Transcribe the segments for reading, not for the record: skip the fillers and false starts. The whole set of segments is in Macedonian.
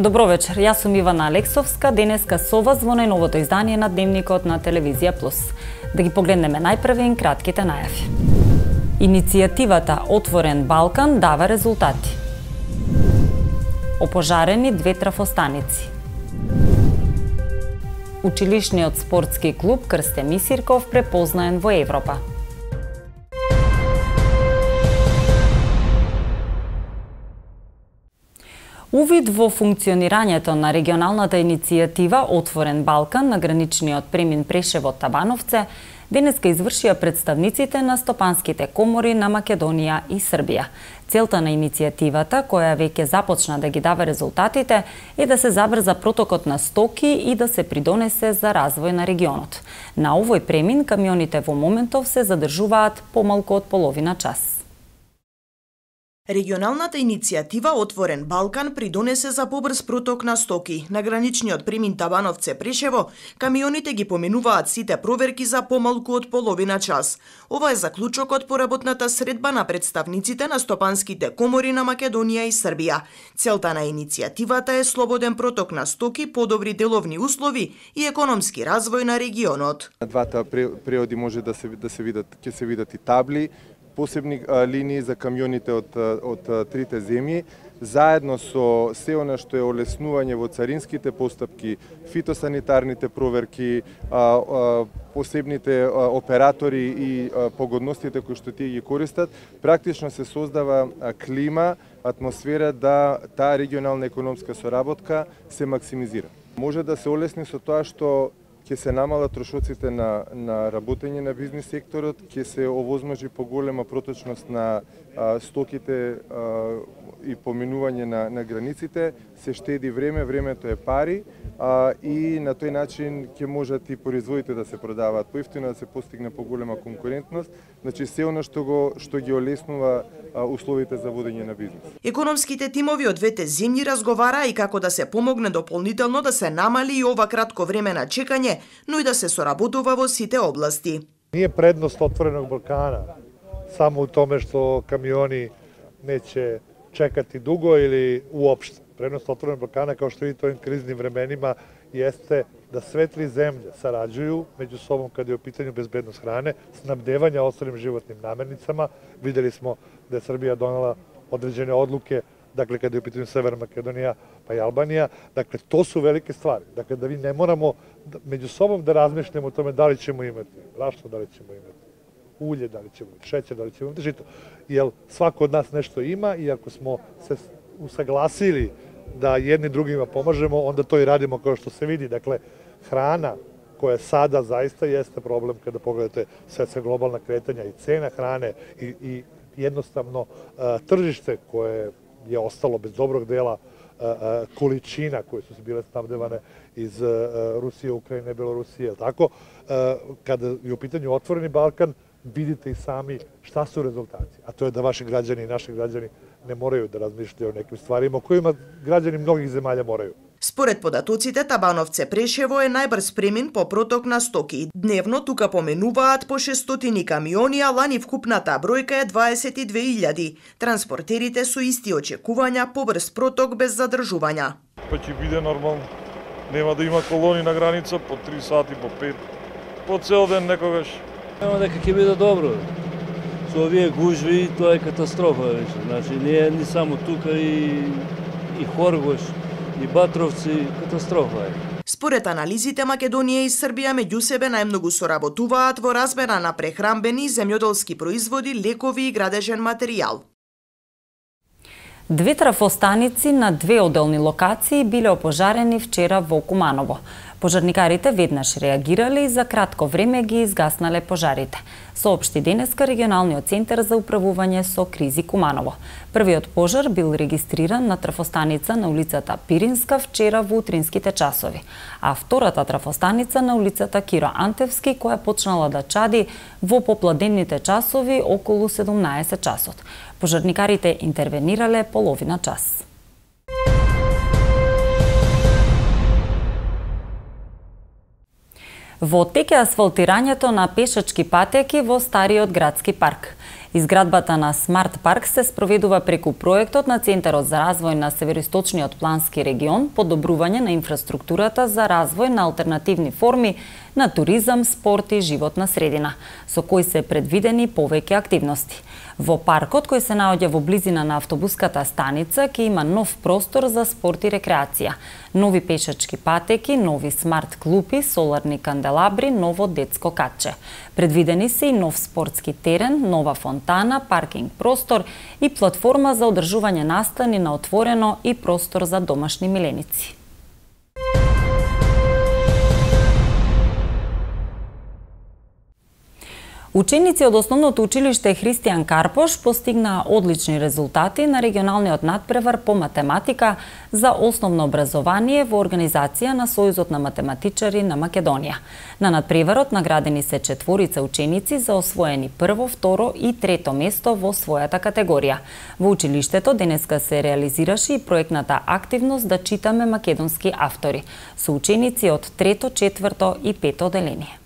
Добро вечер, јас сум Ивана Алексовска, денеска со вас во најновото издание на Дневникот на Телевизија Плюс. Да ги погледнеме најпрвен кратките најави. Иницијативата Отворен Балкан дава резултати. Опожарени 2 трафостаници. Училишниот спортски клуб Крстен Исирков препознаен во Европа. Увид во функционирањето на регионалната иницијатива Отворен Балкан на граничниот премин Прешево-Табановце денеска извршија представниците на стопанските комори на Македонија и Србија. Целта на иницијативата, која веќе започна да ги дава резултатите, е да се забрза протокот на стоки и да се придонесе за развој на регионот. На овој премин камионите во моментов се задржуваат помалку од половина час. Регионалната иницијатива Отворен Балкан придонесе за побрз проток на стоки. На граничниот премин Табановце-Прешево, камионите ги поменуваат сите проверки за помалку од половина час. Ова е заклучокот по работната средба на представниците на стопанските комори на Македонија и Србија. Целта на иницијативата е слободен проток на стоки, подобри деловни услови и економски развој на регионот. На двата преоди може да се видат и табли, посебни линии за камионите од трите земји, заедно со се она што е олеснување во царинските постапки, фитосанитарните проверки, посебните оператори и погодностите кои што тие ги користат, практично се создава клима, атмосфера да таа регионална економска соработка се максимизира. Може да се олесни со тоа што ќе се намалат трошоците на работење на бизнис секторот, ќе се овозможи поголема проточност на стоките и поминување на границите, се штеди време, времето е пари и на тој начин ќе можат и производите да се продаваат поевтино, да се постигне поголема конкурентност, значи се она што ги олеснува условите за водење на бизнис. Економските тимови од двете земји разговараа и како да се помогне дополнително да се намали и ова кратко време на чекање, но и да се соработува во сите области. Nije prednost Otvorenog Balkana samo u tome što kamioni neće čekati dugo ili uopšte. Prednost Otvorenog Balkana, kao što vidite u ovim kriznim vremenima, jeste da sve tri zemlje sarađuju među sobom kada je u pitanju bezbednost hrane, snabdevanja ostalim životnim namirnicama. Videli smo da je Srbija donela određene odluke, dakle kada je u pitanju Severna Makedonija pa i Albanija. Dakle, to su velike stvari. Dakle, da vi ne moramo među sobom da razmišljamo o tome da li ćemo imati brašno, da li ćemo imati ulje, da li ćemo imati šećer, da li ćemo imati žito. Jer svako od nas nešto ima i ako smo se usaglasili da jedni drugima pomažemo, onda to i radimo kao što se vidi. Dakle, hrana koja sada zaista jeste problem kada pogledate svetska globalna kretanja i cena hrane i jednostavno tržište koje je ostalo bez dobrog dela količina koje su bile snabdevane iz Rusije, Ukrajine, Belorusije, tako? Kada je u pitanju Otvoreni Balkan, vidite i sami šta su rezultati. A to je da vaši građani i naši građani ne moraju da razmišljaju o nekim stvarima o kojima građani mnogih zemalja moraju. Според податоците, Табановце-Прешево е најбрз премин по проток на стоки. Дневно тука поменуваат по 600 камиони, а лани вкупната бројка е 22.000. Транспортерите со исти очекувања побрз проток без задржувања. Па ќе биде нормално. Нема да има колони на граница по 3 сати, по 5, по цел ден некогаш. Нема дека ќе биде добро. Со овие гужви тоа е катастрофа веќе. Значи не е ни само тука и Хоргош, и Батровци, катастрофа е. Според анализите, Македонија и Србија меѓу себе најмногу соработуваат во размера на прехранбени, земјоделски производи, лекови и градежен материјал. 2 трафостаници на 2 одделни локации биле опожарени вчера во Куманово. Пожарникарите веднаш реагирале и за кратко време ги изгаснале пожарите, соопшти денеска регионалниот центар за управување со кризи Куманово. Првиот пожар бил регистриран на трафостаница на улицата Пиринска вчера во утринските часови, а втората трафостаница на улицата Киро Антевски, која почнала да чади во попладенните часови околу 17 часот. Пожарникарите интервенирале половина час. Во тек е асфалтирањето на пешачки патеки во стариот градски парк. Изградбата на Смарт парк се спроведува преку проектот на Центарот за развој на Североисточниот плански регион, подобрување на инфраструктурата за развој на алтернативни форми на туризам, спорт и животна средина, со кои се предвидени повеќе активности. Во паркот, кој се наоѓа во близина на автобуската станица, ќе има нов простор за спорт и рекреација, нови пешачки патеки, нови смарт клупи, соларни канделабри, ново детско катче. Предвидени се и нов спортски терен, нова фонтана, паркинг простор и платформа за одржување настани на отворено и простор за домашни миленици. Ученици од Основното училиште Христијан Карпош постигнаа одлични резултати на регионалниот надпревар по математика за основно образование во организација на Сојузот на математичари на Македонија. На надпреварот наградени се 4 ученици за освоени прво, второ и трето место во својата категорија. Во училиштето денеска се реализираше и проектната активност Да читаме македонски автори со ученици од трето, четврто и пето оделение.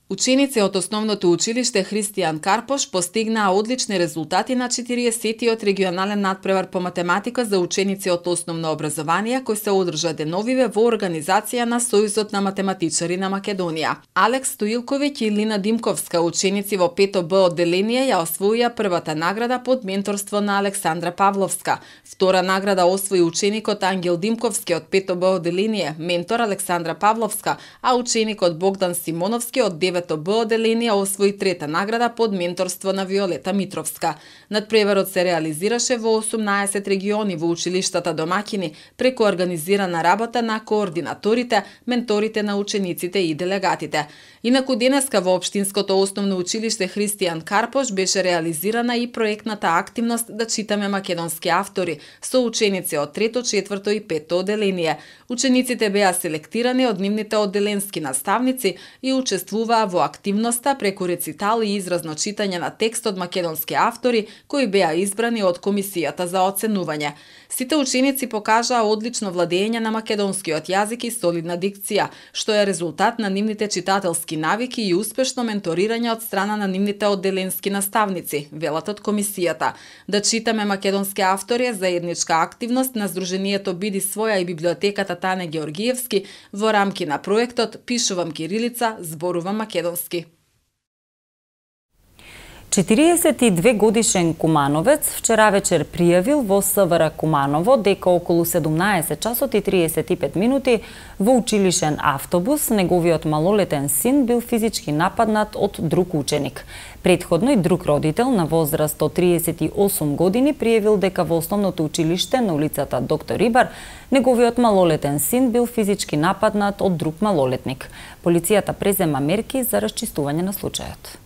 Ученици од Основното училиште Христијан Карпош постигнаа одлични резултати на 40-тиот регионален надпревар по математика за ученици од основно образование кој се одржа деновиве во организација на Сојузот на математичари на Македонија. Алекс Стоилковиќ и Лина Димковска, ученици во 5 Б одделение, ја освоија првата награда под менторство на Александра Павловска. Втора награда освои ученикот Ангел Димковски од 5 Б одделение, ментор Александра Павловска, а ученикот Богдан Симоновски од 9 Б одделение освои трета награда под менторство на Виолета Митровска. Надпреварот се реализираше во 18 региони во училиштата домаќини преку организирана работа на координаторите, менторите на учениците и делегатите. Инаку денеска во Општинското основно училиште Христијан Карпош беше реализирана и проектната активност Да читаме македонски автори со ученици од трето, четврто и пето одделение. Учениците беа селектирани од нивните одделенски наставници и учествуваа во активноста преку рецитал и изразно читање на текст од македонски автори кои беа избрани од комисијата за оценување. Сите ученици покажаа одлично владење на македонскиот јазик и солидна дикција, што е резултат на нивните читателски навики и успешно менторирање од страна на нивните одделенски наставници, велат од комисијата. Да читаме македонски автори е заедничка активност на Сдруженијето Биди своја и библиотеката Тане Георгиевски во рамки на проектот Пишувам кирилица, зборувам македонски. 42 годишен кумановец вчера вечер пријавил во СВР Куманово дека околу 17 часот и 35 минути во училишен автобус неговиот малолетен син бил физички нападнат од друг ученик. Претходно и друг родител на возраст од 38 години пријавил дека во Основното училиште на улицата Доктор Рибар неговиот малолетен син бил физички нападнат од друг малолетник. Полицијата презема мерки за расчистување на случајот.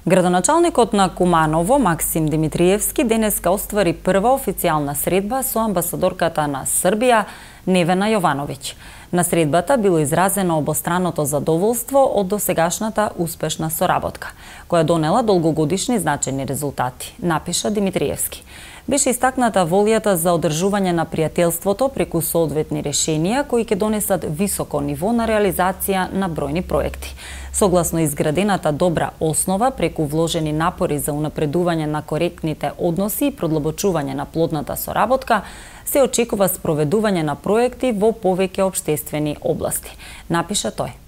Градоначалникот на Куманово, Максим Димитриевски, денеска оствари прва официјална средба со амбасадорката на Србија, Невена Јовановиќ. На средбата било изразено обостраното задоволство од досегашната успешна соработка, која донела долгогодишни значајни резултати, напиша Димитриевски. Беше истакната волјата за одржување на пријателството преку соодветни решенија кои ќе донесат високо ниво на реализација на бројни проекти. Согласно изградената добра основа преку вложени напори за унапредување на коректните односи и продлабочување на плодната соработка, се очекува спроведување на проекти во повеќе општествени области, напиша тој.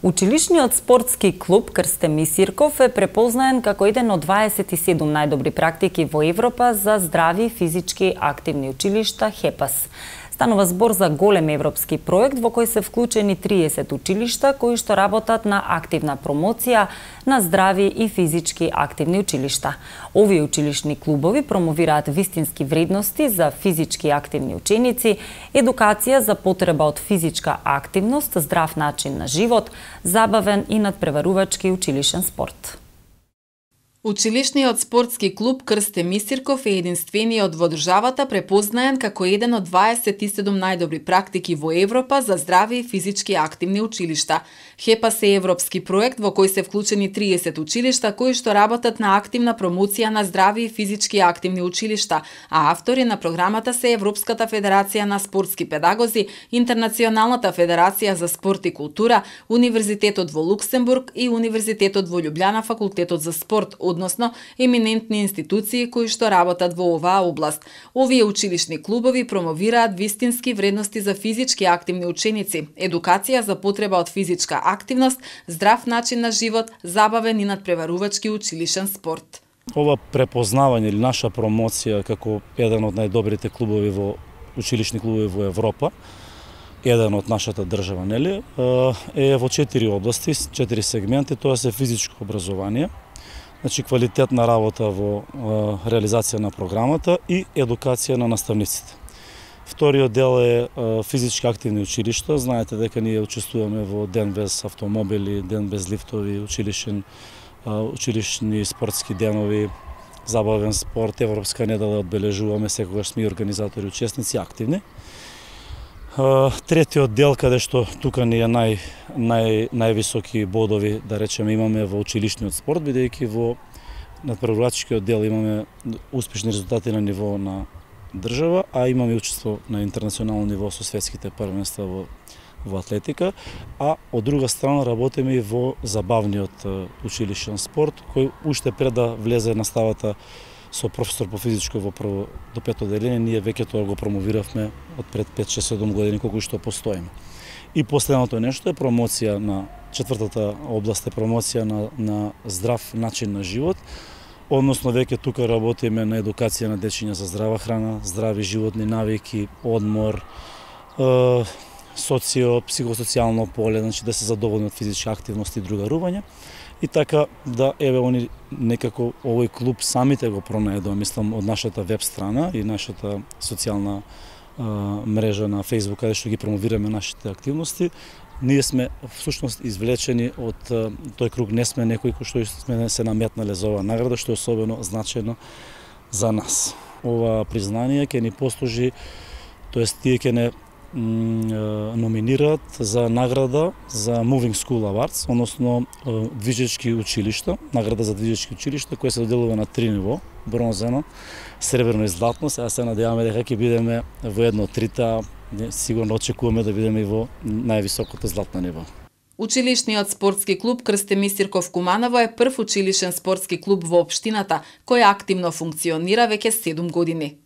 Училишниот спортски клуб Крстеми Сирков е препознаен како еден од 27 најдобри практики во Европа за здрави физички активни училишта ХЕПАС. Станува збор за голем европски проект во кој се вклучени 30 училишта кои што работат на активна промоција на здрави и физички активни училишта. Овие училишни клубови промовираат вистински вредности за физички активни ученици, едукација за потреба од физичка активност, здрав начин на живот, забавен и надпреварувачки училишен спорт. Училишниот спортски клуб Крсте Мисирков е единствениот во државата препознаен како еден од 27 најдобри практики во Европа за здрави и физички активни училишта. ХЕПАС е европски проект во кој се вклучени 30 училишта кои што работат на активна промоција на здрави и физички активни училишта, а автори на програмата се Европската федерација на спортски педагози, Интернационалната федерација за спорт и култура, Универзитетот во Луксембург и Универзитетот во Љубљана, факултетот за спорт, односно еминентни институции кои што работат во оваа област. Овие училишни клубови промовираат вистински вредности за физички активни ученици, едукација за потреба од физичка активност, здрав начин на живот, забавен и надпреварувачки училишен спорт. Ова препознавање или наша промоција како еден од најдобрите клубови во училишни клубови во Европа, еден од нашата држава, нели, е во 4 области, 4 сегменти, тоа се физичко образование, значи квалитетна работа во реализација на програмата и едукација на наставниците. Вториот дел е физички активни училишта. Знаете дека ние учествуваме во Ден без автомобили, Ден без лифтови, училишни спортски денови, забавен спорт, Европска недела одбележуваме, секогаш сме организатори, учесници, активни. Третиот дел, каде што тука ни е највисоки бодови, да речеме, имаме во училишниот спорт, бидејќи во надпреварувачкиот дел имаме успешни резултати на ниво на држава, а имаме учество на интернационално ниво со светските првенства во атлетика, а од друга страна работиме и во забавниот училишен спорт, кој уште пред да влезе наставата со професор по физичко во прво до пето одделение, ние веќе тоа го промовиравме од пред 5-6-7 години колку што постоиме. И последното нешто е промоција на четвртата област, е промоција на здрав начин на живот, односно веќе тука работиме на едукација на дечиња за здрава храна, здрави животни навики, одмор, психосоцијално поле, значи да се задоволни од физичка активност и другарување. И така да они некако овој клуб самите го пронајдоа, мислам, од нашата веб страна и нашата социјална мрежа на Facebook, каде што ги промовираме нашите активности. Ние сме всушност извлечени од тој круг, не сме некои кои што сме се наметнале за оваа награда, што е особено значено за нас. Ова признание ќе ни послужи, тоест тие ќе не номинираат за награда за Moving School Awards, односно движечки училишта, награда за движечки училишта, која се доделува на 3 ниво, бронзено, сребрено и златно. Сега се надеваме дека ќе бидеме во едно од трите, сигурно очекуваме да бидеме и во највисокото златно ниво. Училишниот спортски клуб Крсте Мисирков Куманово е прв училишен спортски клуб во општината, кој активно функционира веќе 7 години.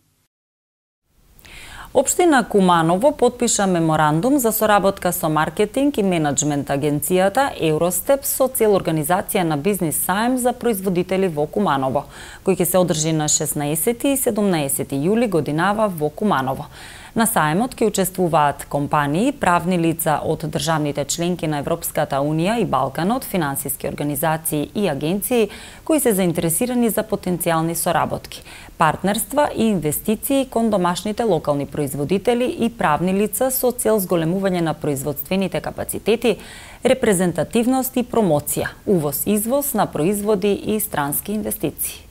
Општина Куманово потпиша меморандум за соработка со маркетинг и менеджмент агенцијата Евростеп со цел организација на бизнис саем за производители во Куманово, кој ќе се одржи на 16 и 17 јули годинава во Куманово. На саемот ќе учествуваат компании, правни лица од државните членки на Европската Унија и Балканот, финансиски организации и агенции кои се заинтересирани за потенцијални соработки, партнерства и инвестиции кон домашните локални производители и правни лица со цел зголемување на производствените капацитети, репрезентативност и промоција, увоз-извоз на производи и странски инвестиции.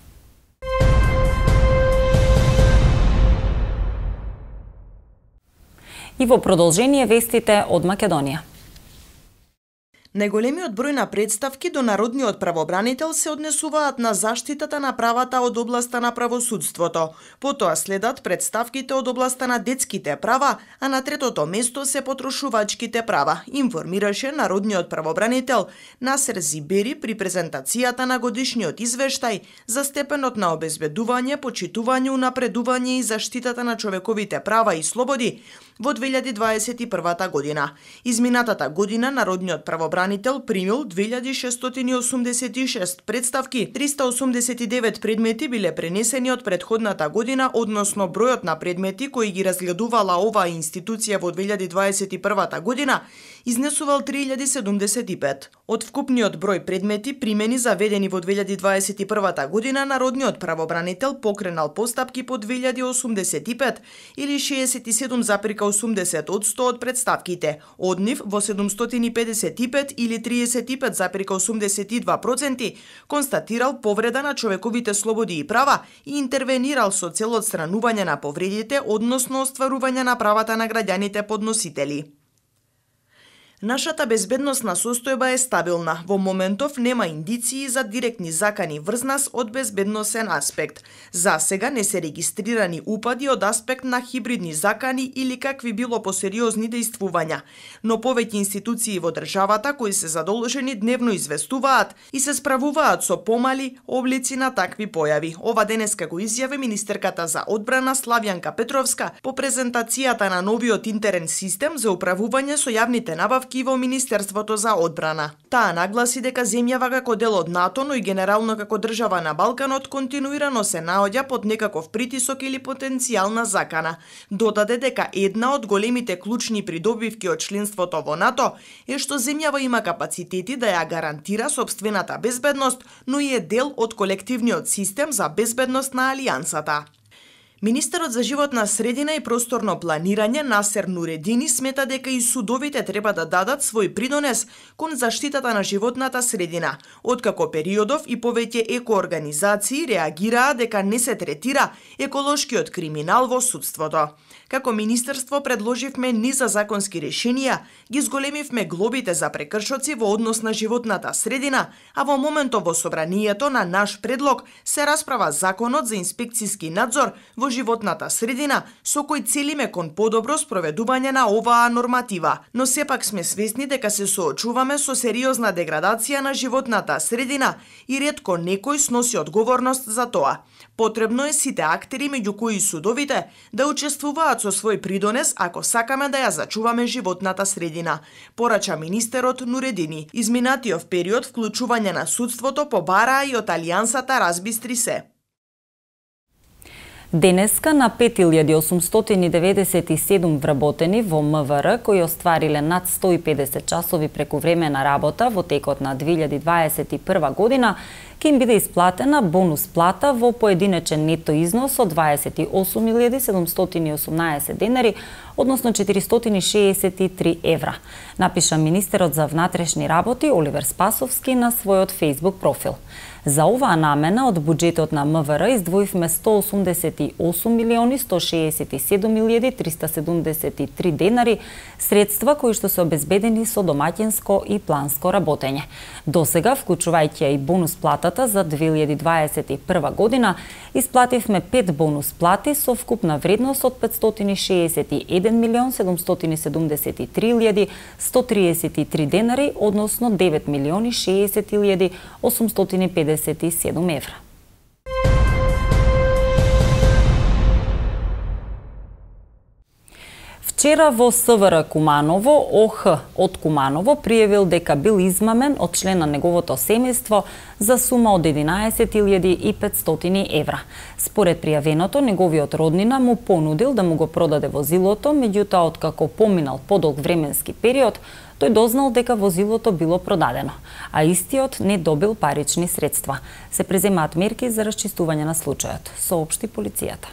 И во продолжение вестите од Македонија. Најголемиот број на представки до Народниот правобранител се однесуваат на заштитата на правата од областа на правосудството. Потоа следат представките од областа на детските права, а на третото место се потрошувачките права, информираше Народниот правобранител Насер Зибери при презентацијата на годишниот извештај за степенот на обезбедување, почитување, унапредување и заштитата на човековите права и слободи во 2021 година. Изминатата година Народниот правобранител примил 2686 представки, 389 предмети биле пренесени од претходната година, односно бројот на предмети кои ги разгледувала оваа институција во 2021 година изнесувал 3075. Од вкупниот број предмети примени заведени во 2021 година, народниот правобранител покренал постапки по 2085 или 67,80% од представките. Од нив во 755 или 35,82% констатирал повреда на човековите слободи и права и интервенирал со цел одстранување на повредите, односно остварување на правата на граѓаните подносители. Нашата безбедносна состојба е стабилна. Во моментов нема индиции за директни закани врз нас од безбедносен аспект. За сега не се регистрирани упади од аспект на хибридни закани или какви било посериозни дејствувања. Но повеќе институции во државата кои се задолжени дневно известуваат и се справуваат со помали облици на такви појави. Ова денеска го изјави министерката за одбрана Славјанка Петровска по презентацијата на новиот интерен систем за управување со јавните набавки во Министерството за одбрана. Таа нагласи дека земјава како дел од НАТО, но и генерално како држава на Балканот континуирано се наоѓа под некаков притисок или потенцијална закана. Додаде дека една од големите клучни придобивки од членството во НАТО е што земјава има капацитети да ја гарантира сопствената безбедност, но и е дел од колективниот систем за безбедност на Алијансата. Министерот за животна средина и просторно планирање Насер Нуредини смета дека и судовите треба да дадат свој придонес кон заштитата на животната средина, откако периодов и повеќе екоорганизации реагираа дека не се третира еколошкиот криминал во судството. Како министерство предложивме низ за законски решенија, ги зголемивме глобите за прекршоци во однос на животната средина, а во моментов во собранието на наш предлог се расправа законот за инспекциски надзор во животната средина, со кој целиме кон подобро спроведување на оваа норматива, но сепак сме свесни дека се соочуваме со сериозна деградација на животната средина и ретко некој сноси одговорност за тоа. Потребно е сите актери, меѓу кои судовите, да учествуваат со свој придонес ако сакаме да ја зачуваме животната средина, порача министерот Нуредини. Изминатиот период вклучување на судството побараа и од Алијансата разбистри се. Денеска на 5897 вработени во МВР кои оствариле над 150 часови прекувремена работа во текот на 2021 година ќе им биде исплатена бонус плата во поединечен нето износ од 28.718 денари, односно 463 евра, напиша министерот за внатрешни работи Оливер Спасовски на својот Facebook профил. За оваа намена од буџетот на МВР издвоивме 188.167.373 денари, средства кои што се обезбедени со домаќинско и планско работење. Досега, вклучувајќи и бонус платата за 2021 година, исплативме 5 бонус плати со вкупна вредност од 561.673.133 денари, односно 9.060.857 евра. Вчера во СВР Куманово, ОХ од Куманово пријавил дека бил измамен од член на неговото семејство за сума од 11.500 евра. Според пријавеното, неговиот роднина му понудил да му го продаде возилото, меѓутоа откако поминал подолг временски период, тој дознал дека возилото било продадено, а истиот не добил парични средства. Се преземаат мерки за расчистување на случајот, соопшти полицијата.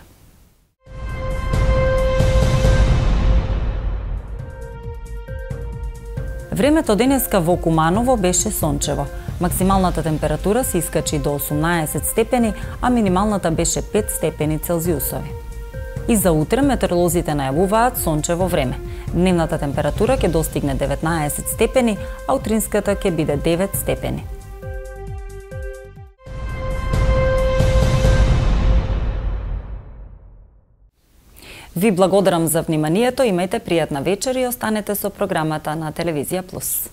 Времето денеска во Куманово беше сончево. Максималната температура се искачи до 18 степени, а минималната беше 5 степени Целзиусови. И за утре метеоролозите најавуваат сончево време. Дневната температура ќе достигне 19 степени, а утринската ќе биде 9 степени. Ви благодарам за вниманието, имајте пријатна вечер и останете со програмата на Телевизија Плюс.